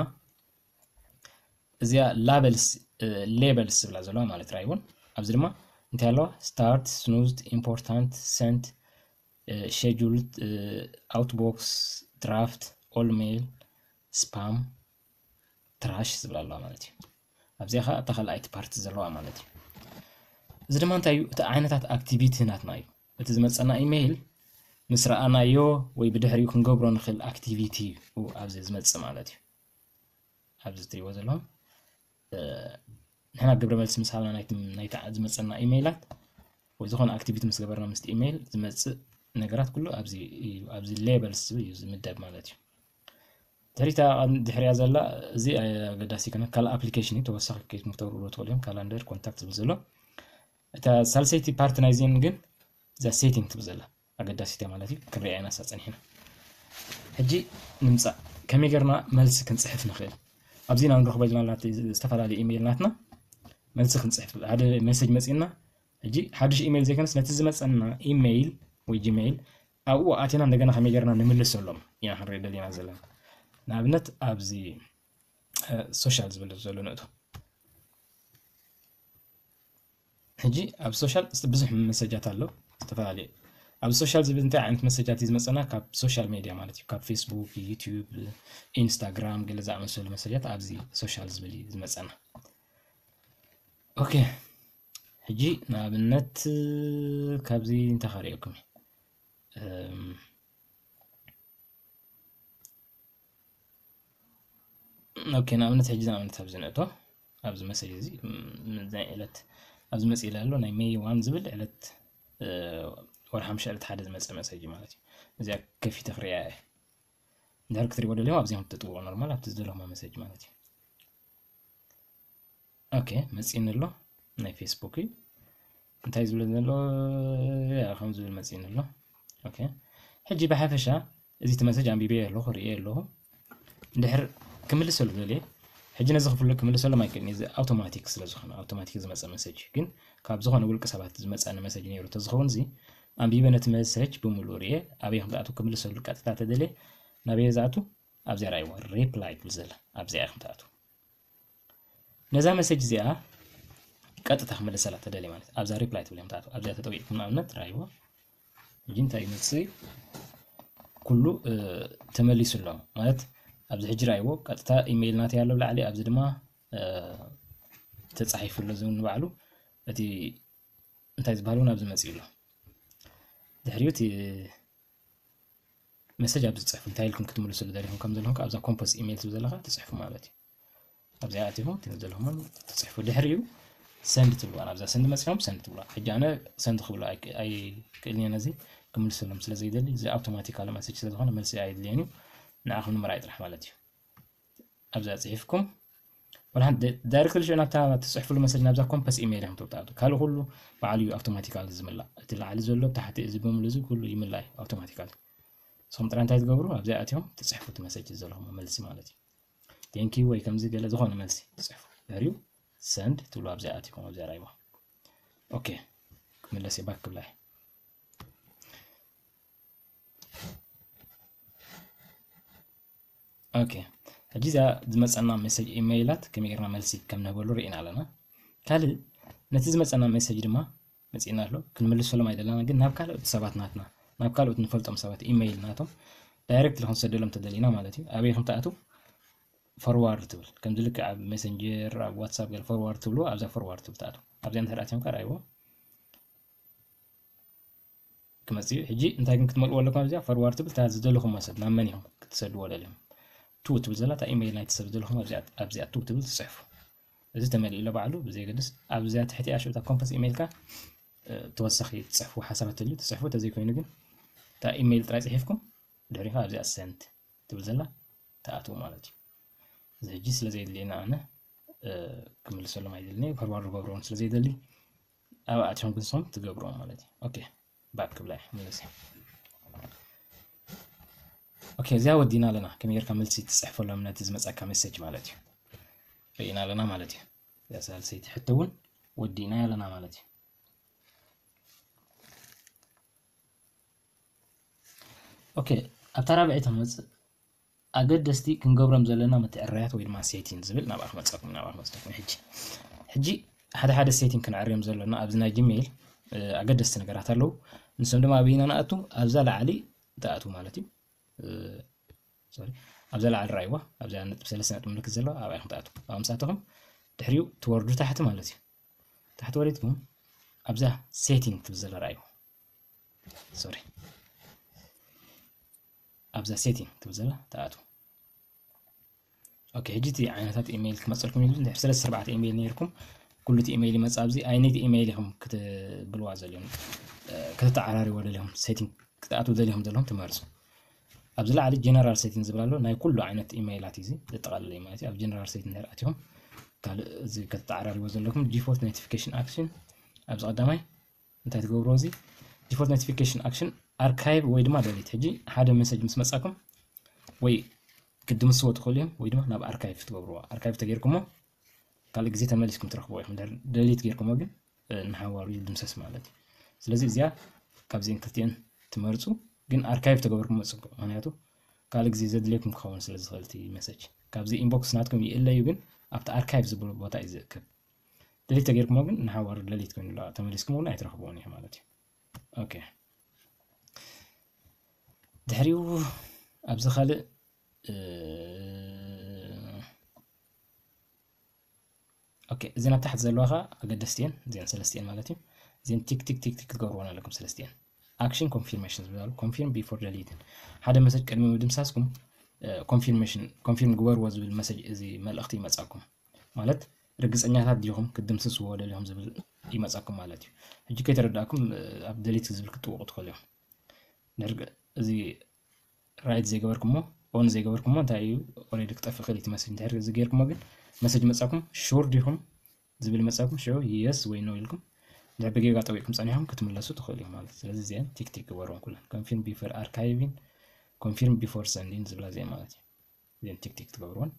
እዚኣ ላበልስ ሌበልስ ዝብላ ዘለዋ ማለት ራይ እውን ኣብዚ ድማ እንታይ ኣለዋ? ስታርት፣ ስኑዝድ፣ ኢምፖርታንት፣ ሰንት፣ ሸጁልድ፣ ኣውትቦክስ፣ ድራፍት፣ ኦል ሜይል፣ ስፓም፣ ትራሽ ዝብላ ኣለዋ ማለት እዩ። ኣብዚኣ ከዓ እታ ካልኣይቲ ፓርቲ ዘለዋ ማለት እዩ። እዚ ድማ እንታይ እዩ? እቲ ዓይነታት ኣክቲቪቲ ናትና እዩ። እቲ ዝመፀና ኢሜይል ምስ ረኣናዮ ወይ ብድሕሪኡ ክንገብሮ ንኽእል ኣክቲቪቲ እዩ ኣብዚ ዝመፅእ ማለት እዩ። ኣብዚ ትሪእዎ ዘለኹም ንሕና ግብረ መልሲ ምስ ሃብና ናይቲ ዝመፀና ኢሜይላት ወይ ዝኾነ ኣክቲቪቲ ምስ ገበርና ምስቲ ኢሜይል ዝመፅእ ነገራት ኩሉ ኣብዚ እዩ። ኣብዚ ሌበልስ ዝብል እዩ ዝምደብ ማለት እዩ። ድሕሪታ ድሕሪያ ዘላ እዚ ኣገዳሲ ይኮነ ካልእ ኣፕሊኬሽን እዩ። ተወሳኺ ኬት ምክተብሩ ዶ ትኽእሉ እዮም። ካላንደር ኮንታክት ዝብል ዘሎ እታ ሳልሰይቲ ፓርቲ ናይዚን ግን እዛ ሴቲንግ ትብል ዘላ ኣገዳሲት እያ ማለት እዩ። ክንሪኣ ኢና እሳ ጸኒሕና። ሕጂ ንምጻእ ከመይ ጌርና መልሲ ክንጽሕፍ ንኽእል? ኣብዚ ኢና ንረኽቦ ዘለና ዝተፈላለዩ ኢሜይል ናትና መልሲ ክንጽሕፍ ሓደ ሜሴጅ መጺእና ሕጂ ሓድሽ ኢሜይል ዘይኮነስ ነቲ ዝመጸና ኢሜይል ወይ ጂሜይል ኣብኡ ኣቲና እንደገና ከመይ ጌርና ንምልሰሎም ኢና ክንርኢ ደሊና ዘለና። ንኣብነት ኣብዚ ሶሻል ዝብል ዘሎ ንእቶ ሕጂ ኣብ ሶሻል ብዙሕ መሰጃት ኣሎ ዝተፈላለዩ ኣብ ሶሻል ዝብል እንታይ ዓይነት መሰጃት እዩ ዝመፀና ካብ ሶሻል ሜድያ ማለት እዩ ካብ ፌስቡክ ዩቲዩብ ኢንስታግራም ገለ ዝኣመሰሉ መሰጃት ኣብዚ ሶሻል ዝብል እዩ ዝመፀና ኦኬ ሕጂ ንኣብነት ካብዚ እንታይ ከርእየኩም ኦኬ ንኣብነት ሕጂ ንኣብነት ኣብዚ ንእቶ ኣብዚ መሰጅ እዚ ናይ ዕለት ኣብዚ መፅእ ኢለ ኣሎ ናይ ሜይ ዋን ዝብል ዕለት ወርሓ ምሸ ዕለት ሓደ ዝመፀ መሰጅ ማለት እዩ እዚኣ ከፊተ ክሪያ እየ እንድሕር ክትሪእዎ ደሊኹም ኣብዚኦም ትጥውቑ ኖርማል ኣብቲ ዝደለኹማ መሰጅ ማለት እዩ ኦኬ መፂእኒ ኣሎ ናይ ፌስቡክ እዩ እንታይ ዝብል ዘሎ ከም ዝብል መፂእኒ ኣሎ ኦኬ ሕጂ ብሓፈሻ እዚ እቲ መሰጅ ኣንቢበ ኣለኹ ርእየ ኣለኹ እንድሕር ክምልሰሉ ደልየ ሕጂ ነዚ ክፍሉ ክምልሰሎም ኣይክእልን እዚ ኣውቶማቲክ ስለ ዝኾነ ኣውቶማቲክ ዝመፀ መሰጅ ግን ካብ ዝኾነ ውልቂ ሰባት ዝመፀኒ መሰጅ ነይሩ ተዝኸውን እዚ ኣንቢበ ነቲ መሰጅ ብምሉእ ርእየ ኣበይ ከም ዝኣቱ ክምልሰሉ ቀጥታ ተደልየ ናበየ ዝኣቱ ኣብዚኣ ራእይዎ ሪፕላይ ትብል ዘላ ኣብዚኣ ኢኹም ትኣቱ ነዛ መሰጅ እዚኣ ቀጥታ ክመለሰላ ተደልየ ማለት ኣብዛ ሪፕላይ ትብል እዮም ትኣቱ ኣብዚኣ ተጠዊዕኩም ንኣብነት ራእይዎ ሕጂ እንታይ ይመፅእ ኩሉ ተመሊሱ ኣሎ ማለት ኣብዚ ሕጂ ራእይዎ ቀጥታ ኢሜይል ናተይ ኣሎ ብላዕሊ ኣብዚ ድማ ተፃሒፉ ኣሎ ዝብል ንባዕሉ እቲ እንታይ ዝበሃል እውን ኣብዚ መፅኡ ኣሎ ድሕሪኡ እቲ መሰጅ ኣብዚ ትፅሕፉ እንታይ ኢልኩም ክትምልስሉ ደሊኹም ከም ዘለኹም ኣብዛ ኮምፖስ ኢሜይል ትብል ዘለካ ትፅሕፉ ማለት እዩ ኣብዚኣ ኣቲኹም ትብል ዘለኹም ትፅሕፉ ድሕሪኡ ሰንድ ትብልዋ ኣብዛ ሰንድ መፅኹም ሰንድ ትብልዋ ሕጂ ኣነ ሰንድ ክብሎ ኣይክእልን እየ ነዚ ክምልሰሎም ስለ ዘይደሊ እዚ ኣውቶማቲካሊ መሰጅ ስለ ዝኾነ መልሲ ኣየድልየን እዩ ንዓኹም ንምርኣይ ጥራሕ ማለት እዩ ኣብዛ ፅሒፍኩም ወላ ሓንቲ ዳይሬክት ልሽዑ ናብታ ትፅሕፍሉ መሰጅ ናብዛ ኮምፐስ ኢሜይል ኢኹም ተውጣጡ ካልእ ኩሉ ባዕሉ እዩ ኣውቶማቲካሊ ዝምላእ እቲ ላዕሊ ዘሎ ታሕቲ እዚ ብምሉ እዚ ኩሉ ይምላእ እዩ ኣውቶማቲካሊ ንስኹም ጥራይ እንታይ ትገብሩ ኣብዚኣ ኣትዮም ትፅሕፉ እቲ መሰጅ ዘለኹም መልሲ ማለት እዩ ቴንኪ ወይ ከምዚ ገለ ዝኾነ መልሲ ትፅሕፉ ድሕሪኡ ሰንድ ትብሉ ኣብዚኣ ኣትኩም ኣብዚኣ ራይዋ ኦኬ ክምለስ እየ ባክ ክብላ እየ ኦኬ ሕጂ እዚኣ ዝመፀና ሜሴጅ ኢሜይላት ከመይ ጌርና መልሲ ከም ንህበሉ ርኢና ኣለና ካልእ ነቲ ዝመፀና ሜሴጅ ድማ መፂእና ኣሎ። ክንምልሰሎም ኣይደለና፣ ግን ናብ ካልኦት ሰባት ናትና፣ ናብ ካልኦት ንፈልጦም ሰባት ኢሜይል ናቶም ዳይሬክት ክንሰደሎም ተደሊና ማለት እዩ። ኣበይ ከም ትኣትው? ፎርዋርድ ትብል። ከምዚ ልክዕ ኣብ ሜሰንጀር፣ ኣብ ዋትሳፕ ገለ ፎርዋርድ ትብሉ፣ ኣብዛ ፎርዋርድ ትብል ትኣትው። ኣብዚኣ እንድሕር ኣትዮም ከኣ ረኣይዎ። ክመጽእ እዩ። ሕጂ እንታይ ግን ክትመልእዎ ኣለኩም ኣብዚኣ? ፎርዋርድ ትብል እታ ዝደለኹም ሰብ ናብ መን ኢኹም ክትሰድዎ ደሊኹም? ቱ ትብል ዘላ እታ ኢሜይል ናይቲ ሰብ ዝደለኹም ኣብዚኣ፣ ኣብዚኣ ቱ ትብል ትጽሕፉ። እዚ ተመሊኡ ኣሎ ባዕሉ ብዘየገድስ ኣብዚኣ ትሕቲ ኣሽብታ ኮምፖስ ኢሜይልካ ተወሳኺ ትጽሕፉ ሓሳባት ተልዩ ትጽሕፉ፣ ተዘይኮይኑ ግን እታ ኢሜይል ጥራይ ጽሒፍኩም ድሕሪኻ ኣብዚኣ ሰንት ትብል ዘላ ትኣትዉ ማለት እዩ። እዚ ሕጂ ስለ ዘየድልየና ኣነ ክምልሰሎም ኣይደልን እየ፣ ፎርዋርድ ክገብርዎም ስለ ዘይደሊ ኣብ ኣትዮም ግን ንሶም ትገብርዎም ማለት እዩ። ኦኬ፣ ባክ ክብላ እየ፣ ምለስ እየ። ኦኬ፣ እዚኣ ወዲና ኣለና። ከመይ ጌርካ መልሲ ትጽሕፈሎም ነቲ ዝመጻካ ሜሴጅ ማለት እዩ። ርኢና ኣለና ማለት እዩ። እዚኣ ሳልሰይቲ ሕቶ እውን ወዲና ኣለና ማለት እዩ። ኦኬ፣ ኣብታ ራብዐይቲ ንመጽእ። ኣገደስቲ ክንገብሮም ዘለና ምትዕርራያት ወይ ድማ ሴቲንግ ዝብል ናብኣ ክመጸኩም፣ ናብኣ ክመጸኩም። ሕጂ፣ ሕጂ ሓደ ሓደ ሴቲንግ ክንዕርዮም ዘለና ኣብዚ ናይ ጂሜይል፣ እ፣ ኣገደስቲ ነገራት ኣለዉ። ንሶም ድማ ኣበይና ንኣቱ? ኣብዛ ላዕሊ ትኣትዉ ማለት እዩ። እ፣ ሶሪ፣ ኣብዛ ላዕሊ ረኣይዋ፣ ኣብዛ ነጥቢ ሰለስተ ነጥቢ ምልክት ዘለዋ ኣብኣ ኢኹም ትኣትዉ። ኣብኣ ምስ ኣተኹም ድሕሪኡ ትወርዱ ታሕቲ ማለት እዩ። ታሕቲ ወሪድኩም ኣብዛ ሴቲንግ ትብል ዘላ ረኣይዋ። ሶሪ፣ ኣብዛ ሴቲንግ ትብል ዘላ ትኣትዉ። ኦኬ፣ ሕጂ እቲ ዓይነታት ኢሜይል ክመጸልኩም እዩ። እንድሕር ሰለስተ ኣርባዕተ ኢሜይል ነይርኩም፣ ኩሉ እቲ ኢሜይል ይመጽእ ኣብዚ። ኣይነይቲ ኢሜይል ኢኹም ክትብልዋ ዘልዮም፣ እ፣ ከተተዓራርይዎ ደሊኹም፣ ሴቲንግ ክትኣትዉ ደሊኹም ዘለኹም ትመርጹ። ኣብዚ ላዕሊ ጀነራል ሴቲንግ ዝብል ኣሎ፣ ናይ ኩሉ ዓይነት ኢሜይላት እዩ እዚ ዘጠቓልል እዩ ማለት እዩ። ኣብ ጀነራል ሴቲንግ እንድሕር ኣቲኹም፣ ካልእ እዚ ከተተዓራርይዎ ዘለኩም ዲፎልት ኖቲፊኬሽን ኣክሽን ኣብዚ ቀዳማይ እንታይ ትገብርዎ? እዚ ዲፎልት ኖቲፊኬሽን ኣክሽን ኣርካይቭ ወይ ድማ ደሊት። ሕጂ ሓደ መሰጅ ምስ መጻኩም ወይ ክትድምስዎ ትኽእሉ እዮም ወይ ድማ ናብ ኣርካይቭ ትገብርዎ። ኣርካይቭ ተገይርኩሞ ካልእ ግዜ ተመሊስኩም ትረኽብዎ ኢኹም። እንድሕር ደሊት ገይርኩሞ ግን፣ እ፣ ንሓዋሩ ይድምሰስ ማለት እዩ። ስለዚ እዚኣ ካብዚአን ክልቲአን ትመርጹ፣ ግን ኣርካይቭ ተገበርኩሞ ጽቡቕ። ምኽንያቱ ካልእ ግዜ ዘድልየኩም ክኸውን ስለ ዝኽእል እቲ መሰጅ። ካብዚ ኢንቦክስ ናትኩም ይእለ እዩ፣ ግን ኣብቲ ኣርካይቭ ዝብል ቦታ እዩ ዝእከብ። ደሊት ተገይርኩሞ ግን ንሓዋሩ ደሊት ኮይኑ ኣሎ፣ ተመሊስኩም እውን ኣይትረኽብዎን ኢኹም ማለት እዩ። ኦኬ። ድሕሪኡ ኣብዚ ካልእ፣ እ፣ ኦኬ፣ እዘን ኣብ ታሕቲ ዘለዋ ኸኣ ኣገደስቲ እየን፣ እዚአን ሰለስቲአን ማለት እዩ። እዚአን ቲክ፣ ቲክ፣ ቲክ፣ ቲክ ክትገብርወን ኣለኩም ሰለስቲአን። ኣክሽን ኮንፊርሜሽን ዝብላሉ፣ ኮንፊርም ቢፎር ደሊትን። ሓደ መሰጅ ቅድሚ ምድምሳስኩም፣ እ፣ ኮንፊርሜሽን፣ ኮንፊርም ግበርዎ ዝብል መሰጅ፣ እዚ መልእኽቲ ይመጻኩም። ማለት ርግጸኛታት ዲኹም ክትድምስስዎ ደሊኹም ዝብል ይመጻኩም ማለት እዩ። ሕጂ ከይተረዳእኩም፣ እ፣ ኣብ ደሊት ዝብል ክትጥውቑ ትኽእሉ እዮም። ድሕሪ እዚ ራይት ዘይገበርኩሞ፣ ኦን ዘይገበርኩሞ እንታይ እዩ? ኦልሬዲ ክጠፍእ ክእል እዩ እቲ መሰጅ። እንድሕር እዚ ገይርኩሞ ግን መሰጅ መጻኩም፣ ሹር ዲኹም ዝብል መጻኩም፣ ሽዑ የስ ወይ ኖ ኢልኩም እንድሕር ብጌጋ ጠዊቕኩም ጸኒሕኩም ክትምለሱ ትኽእሉ ኢኹም ማለት እዩ። ስለዚ እዚአን ቲክ ቲክ ግበርወን ኩለን። ኮንፊርም ቢፎር ኣርካይቪን፣ ኮንፊርም ቢፎር ሰንዲን ዝብላ እዚአን ማለት እዩ። እዚአን ቲክ ቲክ ትገብርወን።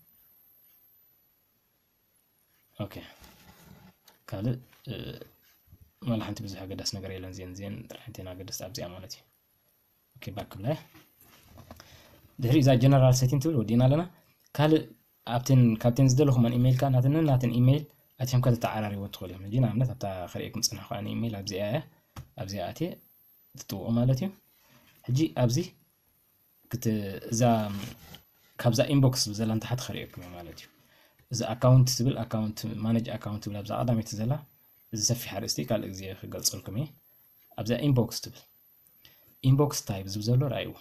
ኦኬ። ካልእ፣ እ፣ ዋላ ሓንቲ ብዙሕ ኣገዳሲ ነገር የለን። እዚአን፣ እዚአን ጥራሕ እተን ኣገደስቲ ኣብዚኣ ማለት እዩ። ኦኬ፣ ባክ ክብላ። ድሕሪ እዛ ጀነራል ሴቲንግ ትብል ወዲእና ኣለና። ካልእ ኣብተን፣ ካብተን ዝደለኹመን ኢሜይል ከኣ ናተንን ናተን ኢሜይል ኣትዮም ከተተዓራርይዎ ትኽእሉ እዮም። ሕጂ ንኣብነት ኣብታ ከርእየኩም ዝጸናሕኩ ኣነ ኢሜይል ኣብዚኣ እያ። ኣብዚኣ ኣትየ ትጥውቑ ማለት እዩ። ሕጂ ኣብዚ ክት-፣ እዛ፣ ካብዛ ኢንቦክስ ዝብል ዘላ ንታሕቲ ከርእየኩም እየ ማለት እዩ። እዚ ኣካውንት ዝብል፣ ኣካውንት፣ ማኔጅ ኣካውንት ዝብል ኣብዛ ቀዳመይቲ ዘላ፣ እዚ ሰፊሕ ኣርእስቲ ካልእ ግዜ ክገልጸልኩም እየ። ኣብዛ ኢንቦክስ ትብል፣ ኢንቦክስ ታይፕ ዝብል ዘሎ ረኣይዎ።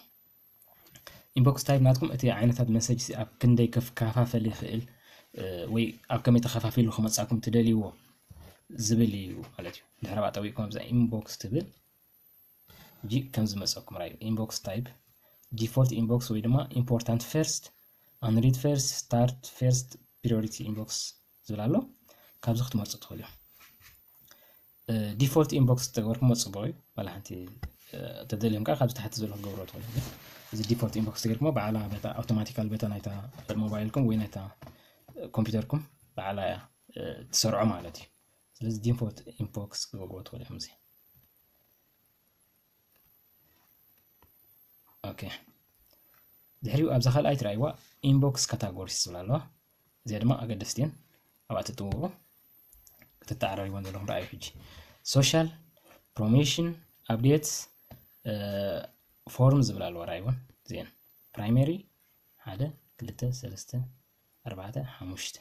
ኢንቦክስ ታይፕ ናትኩም እቲ ዓይነታት መሰጅ ኣብ ክንደይ ከፍ-፣ ከፋፈል ይኽእል፣ እ፣ ወይ ኣብ ከመይ ተኸፋፊሉ ክመጻኩም ትደልይዎ ዝብል እዩ ማለት እዩ። ድሕሪ ኣብኣ ጠዊቕኩም ኣብዛ ኢንቦክስ ትብል፣ ሕጂ ከም ዝመጸኩም ራእዩ። ኢንቦክስ ታይፕ፣ ዲፎልት ኢንቦክስ ወይ ድማ ኢምፖርታንት ፈርስት፣ ኣንሪድ ፈርስት፣ ስታርት ፈርስት፣ ፕሪዮሪቲ ኢንቦክስ ዝብል ኣሎ። ካብዚ ክትመርጹ ትኽእሉ እዮም። እ፣ ዲፎልት ኢንቦክስ ተገበርኩሞ ጽቡቕ እዩ። ዋላ ሓንቲ፣ እ፣ ተደልዮም ከኣ ካብዚ ታሕቲ ዘሎ ክትገብርዎ ትኽእሉ እዮም። እዚ ዲፎልት ኢንቦክስ ተገይርኩሞ ባዕላ በታ ኣውቶማቲካል በታ ናይታ ሞባይልኩም ወይ ናይታ ኮምፒውተርኩም ባዕላ እያ፣ እ፣ ትሰርዖ ማለት እዩ። ስለዚ ዲፎልት ኢንቦክስ ክገብርዎ ትኽእሉ እዮም እዚ። ኦኬ። ድሕሪኡ ኣብዛ ካልኣይ ትረኣይዋ ኢንቦክስ ካታጎሪስ ዝብላ ኣለዋ። እዚኣ ድማ ኣገደስቲ እየን። ኣብኣ ትጥውቑ። ክትተዓራርይወን ዘለኹም ረኣዩ ሕጂ። ሶሻል፣ promotion, updates, form ዝብል ኣለዎ። ራይቦን ዜን primary ሓደ ክልተ ሰለስተ ኣርባዕተ ሓሙሽተ።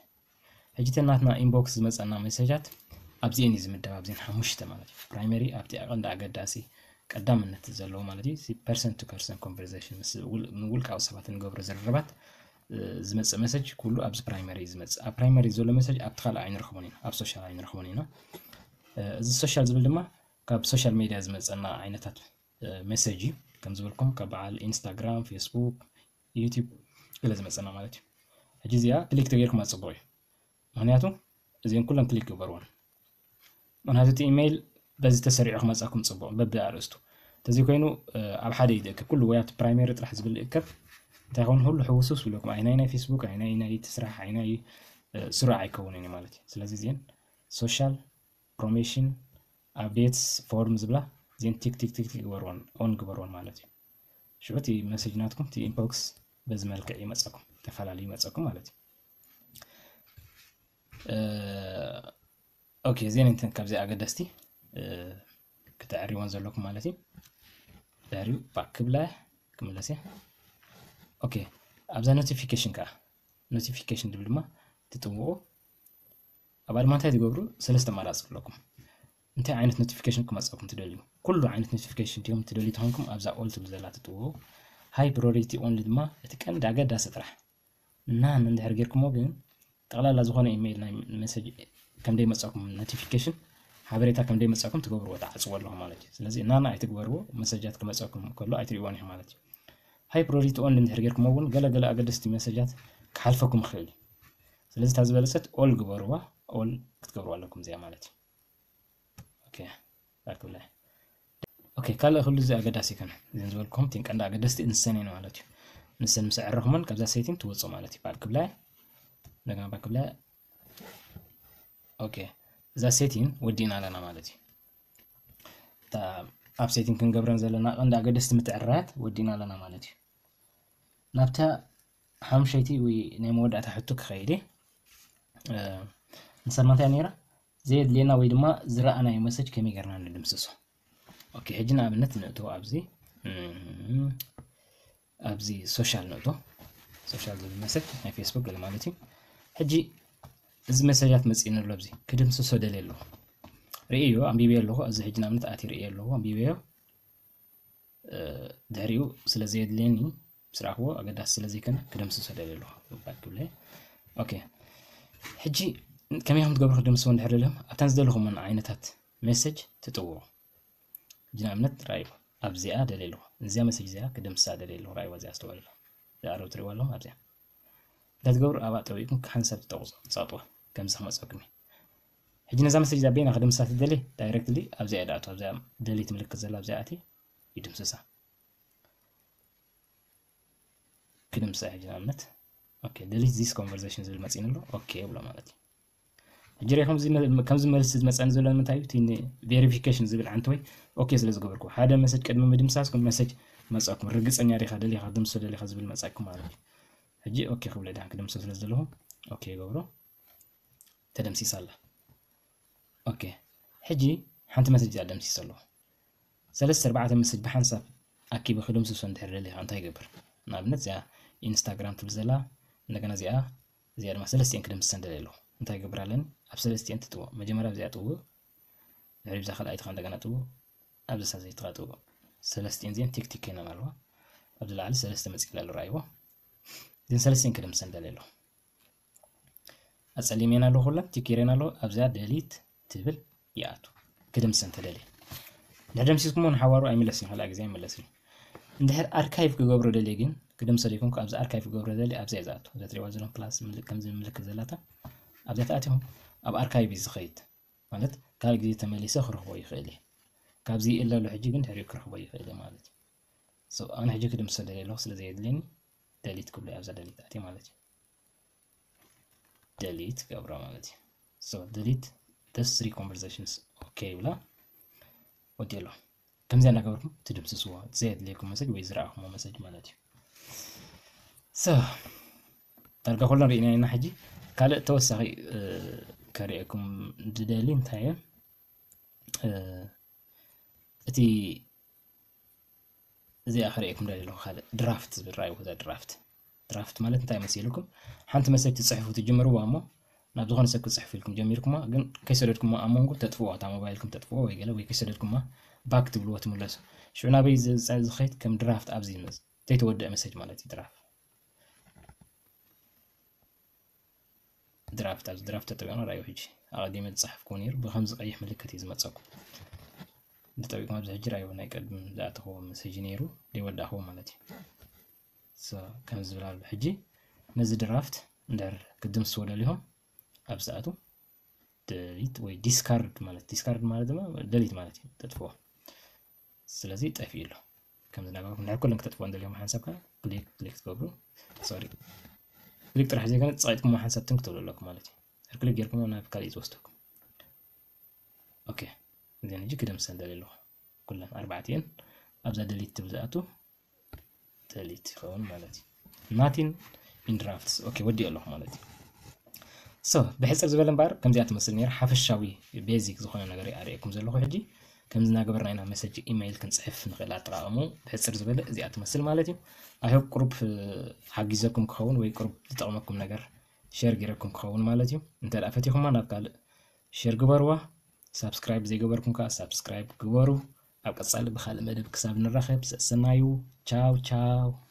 ሕጂ እቲ ናትና inbox ዝመፀና ሜሴጃት ኣብዚኤን እዩ ዝምደብ፣ ኣብዚኤን ሓሙሽተ ማለት እዩ። Primary ኣብቲ ቀንዲ ኣገዳሲ ቀዳምነት ዘለዎ ማለት እዩ። Person to person conversation፣ ምስ ውልቃዊ ሰባት እንገብሮ ዝርርባት ዝመፅእ ሜሴጅ ኩሉ ኣብዚ primary እዩ ዝመፅእ። ኣብ primary ዘሎ ሜሴጅ ኣብቲ ካልእ ኣይንረኽቦን ኢና፣ ኣብ social ኣይንረኽቦን ኢና። እዚ social ዝብል ድማ ካብ social media ዝመፀና ዓይነታት ሜሴጅ እዩ። ከም ዝበልኩም ካብ በዓል Instagram፣ Facebook፣ YouTube ገለ ዝመፀና ማለት እዩ። ሕጂ እዚኣ ክሊክ ተገይርኩም ኣፅቡቕ እዩ። ምክንያቱ እዚን ኩለን ክሊክ ግበርዎን። ምክንያቱ እቲ ኢሜይል በዚ ተሰሪዑ ክመፃኩም ፅቡቕ በቢ ኣርእስቱ። ተዚ ኮይኑ ኣብ ሓደ እዩ ዝእከብ፣ ኩሉ ወይ ኣብቲ primary ጥራሕ ዝብል ይእከብ። እንታይ ይኸውን፣ ሁሉ ሕውስውስ ይብለኩም። ኣይናይ ናይ Facebook፣ ኣይናይ ናይ እቲ ስራሕ፣ ኣይናይ ስሩዕ ኣይከውንን እዩ ማለት እዩ። ስለዚ እዚን social፣ promotion፣ updates፣ form ዝብላ እዚን ቲክ ቲክ ቲክ ቲክ ግበርዎን፣ on ግበርዎን ማለት እዩ። ሽዑ እቲ ሜሴጅ ናትኩም እቲ inbox በዚ መልክዕ ይመፀኩም፣ ተፈላለዩ ይመፀኩም ማለት እዩ። ኦኬ፣ እዚን እንትን ካብዚ ኣገደስቲ ክተዕሪዎን ዘለኩም ማለት እዩ። ድሕሪኡ back ክብላ ክምለስ እየ። ኦኬ፣ ኣብዛ notification ከዓ፣ notification ዝብል ድማ ትጥውቑ። ኣብኣ ድማ እንታይ ትገብሩ? ሰለስተ ኣማራፂ ኣለኩም። እንታይ ዓይነት notification ክመፀኩም ትደልዩ? ኩሉ ዓይነት notification ድዮም ትደልዩ ተኾንኩም ኣብዛ all ትብል ዘላ ትጥውቑ። High priority only ድማ እቲ ቀንዲ ኣገዳሲ ጥራሕ። None እንድሕር ጌርኩሞ ግን ጠቕላላ ዝኾነ ኢሜይል ናይ ሜሴጅ ከም ደይመፀኩም፣ notification ሓበሬታ ከም ደይመፀኩም ትገብርዎ፣ ትዓፅዎ ኣለኹም ማለት እዩ። ስለዚ none ኣይትግበርዎ፣ ሜሴጃት ክመፀኩም ከሎ ኣይትርእይዎን ኢኹም ማለት እዩ። High priority only እንድሕር ጌርኩሞ እውን ገለ ገለ ኣገደስቲ ሜሴጃት ክሓልፈኩም ይኽእል እዩ። ስለዚ እታ ዝበለፀት all ግበርዋ፣ all ክትገብርዋ ኣለኩም እዚኣ ማለት እዩ። ኦኬ፣ back ክብላ። ኦኬ፣ ካልእ ኩሉ እዚ ኣገዳሲ ኣይኮነን። እዘን ዝበልኩም እተን ቀንዲ ኣገደስቲ ንሰን እየን ማለት እዩ። ንሰን ምስ ኣዕረኹመን ካብዛ setting ትወፁ ማለት እዩ። Back ክብላ፣ እንደገና back ክብላ። ኦኬ፣ እዛ setting ወዲእና ኣለና ማለት እዩ። እታ ኣብ setting ክንገብረን ዘለና ቀንዲ ኣገደስቲ ምትዕርራያት ወዲእና ኣለና ማለት እዩ። ናብታ ሓሙሸይቲ ወይ ናይ መወዳእታ ሕቶ ክኸይድ እየ። እ፣ ንሳ ማንታይ ነይራ? ዘየድልየና ወይ ድማ ዝረኣናዮ ሜሴጅ ከመይ ጌርና ንድምስሶ? ኦኬ፣ ሕጂ ንኣብነት ንእቶ ኣብዚ፣ እም፣ ኣብዚ social ንእቶ። Social ዝብል ሜሴጅ ናይ Facebook ገለ ማለት እዩ። ሕጂ እዚ ሜሴጃት መፂእኒ ኣሎ፣ ኣብዚ ክድምስሶ ደልየ ኣለኹ። ርእዮ፣ ኣንቢበዮ ኣለኹ። ኣብዚ ሕጂ ንኣብነት ኣትየ ርእዮ ኣለኹ፣ ኣንቢበዮ። እ፣ ድሕሪኡ ስለ ዘየድልየኒ፣ ምስ ረኣኽዎ ኣገዳሲ ስለ ዘይኮነ ክደምስሶ ደልየ ኣለኹ። Back ክብለ። ኦኬ። ሕጂ ከመይ ከም ትገብሩ ክደምስሶ እንድሕር ደልዮም፣ ኣብተን ዝደለኹመን ዓይነታት ሜሴጅ ትጥውቑ። ሕጂ ንኣብነት ራእይዎ፣ ኣብዚኣ ደልየ ኣለኹ። እዚኣ ሜሴጅ እዚኣ ክደምስሳ ደልየ ኣለኹ። ራእይዎ፣ እዚኣ ኣስተውዕሉ። እዚኣ ኣረብ ትርእይዋ ኣለኹም፣ ኣብዚኣ። እንታይ ትገብሩ? ኣብኣ ጠዊቕኩም ሓንሳብ ትጠቕሱ፣ ትሰጥዋ። ከምዚ ክመፀኩም እዩ። ሕጂ ነዛ ሜሴጅ እዚኣ በይና ክድምስሳ ትደሊ፣ directly ኣብዚኣ እየ ድኣቱ። ኣብዚኣ ደሊት ምልክት ዘላ ኣብዚኣ ኣትየ ይድምስሳ። ክድምስሳ ሕጂ ንኣብነት። ኦኬ፣ delete this conversation ዝብል መፂእኒ ኣሎ። ኦኬ ብሎ ማለት እዩ። ሕጂ ርኢኹም እዚ መ-፣ ከምዚ መልሲ ዝመፀኒ ዘሎ ንምንታይ እዩ? እቲ ን-፣ verification ዝብል ዓንተወይ ኦኬ ስለ ዝገበርኩ። ሓደ ሜሴጅ ቅድሚ ምድምሳስኩም ሜሴጅ መፀኩም፣ ርግፀኛ ዲኻ ደሊኻ፣ ድምሶ ደሊኻ ዝብል መፀኩም ማለት እዩ። ሕጂ ኦኬ ክብሎ ድሓን ክድምሶ ስለ ዝደለኹ ኦኬ ይገብሮ። ተደምሲሳ ኣላ። ኦኬ፣ ሕጂ ሓንቲ ሜሴጅ እያ ደምሲሰ ኣለኹ። ሰለስተ ኣርባዕተ ሜሴጅ ብሓንሳብ ኣኪበ ክድምስሶ እንድሕር ደሊኻ እንታይ ይገብር? ንኣብነት እዚኣ ኢንስታግራም ትብል ዘላ፣ እንደገና እዚኣ፣ እዚኣ ድማ ሰለስቲኤን ክድምስሰን ደልየ ኣለኹ። እንታይ ይገብር ኣለኒ? ኣብ ሰለስቲኤን ትጥውቕ። መጀመርያ እዚኣ ጥውቕ፣ ድሕሪ ብዛ ካልኣይቲ ኸኣ እንደገና ጥውቕ፣ ኣብዚ ሳዘይቲ ኸኣ ጥውቕ። ሰለስቲኤን እዚኤን ቲክ ቲክ ኮይነን ኣለዋ። ኣብዚ ላዕሊ ሰለስተ መፂእላ ኣሎ፣ ረኣይዎ። እዘን ሰለስቲኤን ክድምሰን ደልየ ኣለኹ። ኣጸሊመን ኣለኹ፣ ኩለን ቲክ ገይረን ኣለኹ። ኣብዚኣ ደሊት ትብል ይኣቱ። ክድምሰን ተደልየ። እንድሕር ደምሲስኩሞ ንሓዋሩ ኣይምለስን፣ ካልኣ ግዜ ኣይምለስን። እንድሕር ኣርካይቭ ክገብሮ ደልየ ግን፣ ክድምሰ ደይኮንኩ ኣብዚ ኣርካይቭ ክገብሮ ደልየ፣ ኣብዚኣ እየ ዝኣቱ። እዛ ትሪእዋ ዘለኹም ፕላስ ምልክ-፣ ከምዚ ምልክት ዘላታ፣ ኣብዚኣ ተኣቲኹም ኣብ ኣርካይቭ እዩ ዝኸይድ። ማለት ካልእ ግዜ ተመሊሰ ክረኽቦ ይኽእል እየ። ካብዚ ይእለ ኣሎ ሕጂ ግን ድሕሪኡ ክረኽቦ ይኽእል እየ ማለት እዩ። So ኣነ ሕጂ ክድምሰ ደልየ ኣለኹ፣ ስለ ዘየድልየኒ ደሊት ክብሎ እየ፣ ኣብዛ ደሊት ኣትየ ማለት እዩ። ደሊት ገብሮ ማለት እዩ። So delete those three conversations ኦኬ ይብላ። ወዲ ኣሎ። ከምዚኣ እናገበርኩም ትድምስስዎ፣ ዘየድልየኩም መሰጅ ወይ ዝረኣኹሞ መሰጅ ማለት እዩ። So ዳርጋ ኩለን ርኢና ኢና። ሕጂ ካልእ ተወሳኺ፣ እ፣ ከርእየኩም ዝደሊ እንታይ እየ? እ፣ እቲ እዚኣ ክርእየኩም ደሊ ኣለኹ። ካልእ ድራፍት ዝብል ራእይዎ። እዛ ድራፍት ድራፍት ማለት እንታይ መሲልኩም? ሓንቲ መሰጅ ትፅሕፉ ትጅምርዋ እሞ ናብ ዝኾነ ሰብ ክትፅሕፉ ኢልኩም ጀሚርኩማ፣ ግን ከይሰደድኩማ ኣብ መንጎ ተጥፍዎ፣ እታ ሞባይልኩም ተጥፍዎ ወይ ገለ ወይ ከይሰደድኩማ ባክ ትብልዎ ትምለሱ። ሽዑ ናበይ ዝኸይድ? ከም ድራፍት ኣብዚ ይመጽእ፣ ዘይተወደአ መሰጅ ማለት እዩ። ድራፍት ድራፍት ኣብዚ ድራፍት ተጠቢቕና ራእዩ። ሕጂ ኣቐዲመ ዝፀሓፍኩዎ ነይሩ፣ ብከምዚ ቀይሕ ምልክት እዩ ዝመፀኩም። እንተጠቢቕኩም ኣብዚ ሕጂ ራእዩ ናይ ቀድም ዝኣተኽዎ መሰጅ ነይሩ ዘይወዳእኽዎ ማለት እዩ። ከምዚ ዝብል ኣሎ። ሕጂ ነዚ ድራፍት እንድሕር ክትድምስዎ ደሊኹም ኣብዚ ኣቱ ደሊት ወይ ዲስካርድ ማለት፣ ዲስካርድ ማለት ድማ ደሊት ማለት እዩ፣ ተጥፍዎ። ስለዚ ጠፊኡ ኣሎ። ከምዚ እናገበርኩም እንድሕር ኩለን ክተጥፍዎ እንደልዮም ሓንሳብ ከ ክሊክ ክሊክ ትገብሩ። ሶሪ፣ ክሊክ ጥራሕ ዘይኮነ ጸቂጥኩም ሓንሳብ ትንክ ትብሉ ኣለኩም ማለት እዩ። ድሕር ክሊክ ጌርኩም ናብ ካልእ እዩ ዝወስደኩም። ኦኬ፣ እዚን ሕጂ ክደምሰን ደልየ ኣለኹ። ኩለን ኣርባዕቲኤን ኣብዛ ደሊት ትብል ዝኣቱ ደሊት ይኸውን ማለት እዩ። Nothing in drafts። ኦኬ፣ ወዲኦ ኣለኹ ማለት እዩ። So ብሕጽር ዝበለ እምበኣር ከምዚኣ ትመስል ነይራ፣ ሓፈሻዊ ቤዚክ ዝኾነ ነገር እየ ኣርእየኩም ዘለኹ። ሕጂ ከምዚ እናገበርና ኢና መሰጅ ኢሜይል ክንጽሕፍ ንኽእል። ኣጠቓቕሙ ብሕጽር ዝበለ እዚኣ ትመስል ማለት እዩ። I hope ቁሩብ ሓጊዘኩም ክኸውን ወይ ቁሩብ ዝጠቕመኩም ነገር ሼር ገይረኩም ክኸውን ማለት እዩ። እንተ ደኣ ፈቲኹማ ናብ ካልእ ሼር ግበርዋ። ሳብስክራይብ ዘይገበርኩም ከኣ ሳብስክራይብ ግበሩ። ኣብ ቀጻሊ ብኻልእ መደብ ክሳብ ንራኸብ ሰሰናዩ። ቻው ቻው።